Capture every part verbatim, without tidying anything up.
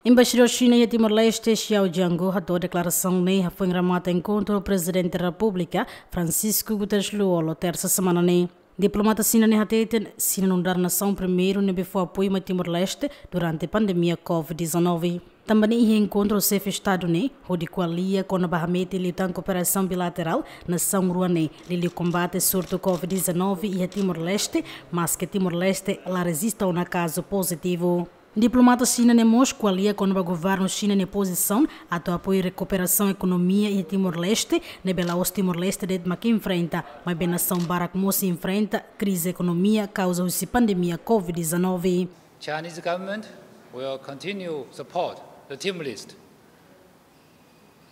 Embaixadór Xina iha Timor-Leste, Xiao Jianguo, hato'o deklarasaun ne'e hafoin remata enkontru Prezidente Repúblika, Francisco Guterres Lú-Olo, tersa semana ne'e. Diplomata Xina ne'e hateten, Xina nu'udar nasaun primeiru ne'ebé fó apoiu mai Timor-Leste durante pandemia covid dezanove. Tanba ne'e iha enkontru xefe Estadu ne'e, hodi ko'alia kona-ba hametin liután kooperasaun bilaterál nasaun rua ne'e, liuliu kombate surtu covid dezanove iha Timor-Leste, maske Timor-Leste la rejista ona kazu pozitivu. Diplomata Xina ne'e mós ko'alia kona-ba governu Xina nia pozisaun atu apoiu rekuperasaun ekonomia iha Timor-Leste, ne'ebé la'ós Timor-Leste de'it mak enfrenta, maibé nasaun barak mós enfrenta krize ekonomia kauza husi pandemia covid dezanove. Chinese government will continue support the Timor-Leste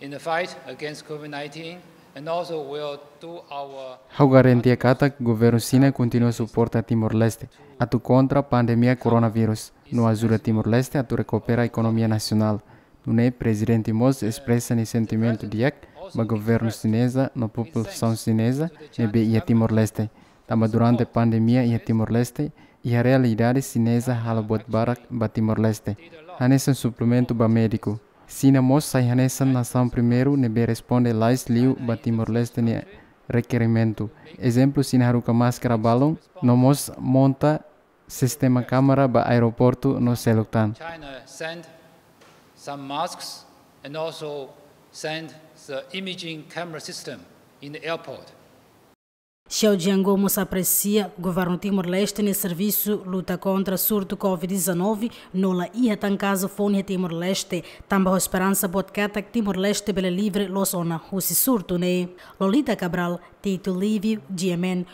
in the fight against covid nineteen and also will do our Ha'u garantia katak governu Xina kontinua suporta Timor-Leste atu kontra pandemia koronavírus, no ajuda Timor-Leste atu rekupera ekonomia nasionál. Nune'e Prezidente mós espresa nia sentimentu di'ak ba governu xineza no populasaun xineza ne'ebé iha Timor-Leste. Tanba durante pandemia iha Timor-Leste, iha realidade xineza halo buat barak ba Timor-Leste. Hanesan suplementu ba médiku. Xina mós sai hanesan nasaun primeiru ne'ebé responde lalais liu ba Timor-Leste nia rekerimentu. Ezemplu, Xina haruka máskara balun, no mós monta sistema kámara ba aeroportu no seluk tan. China sent some masks and also sent the imaging camera system in the airport. Xiao Jianguo mós apresia governu Timor-Leste nia servisu luta kontra surtu covid dezanove, no la iha tan kazu foun iha Timor-Leste, tanba ho esperansa boot katak Timor-Leste bele livre loos ona husi surtu ne'e. Lolita Cabral, Tito Livio, G M N,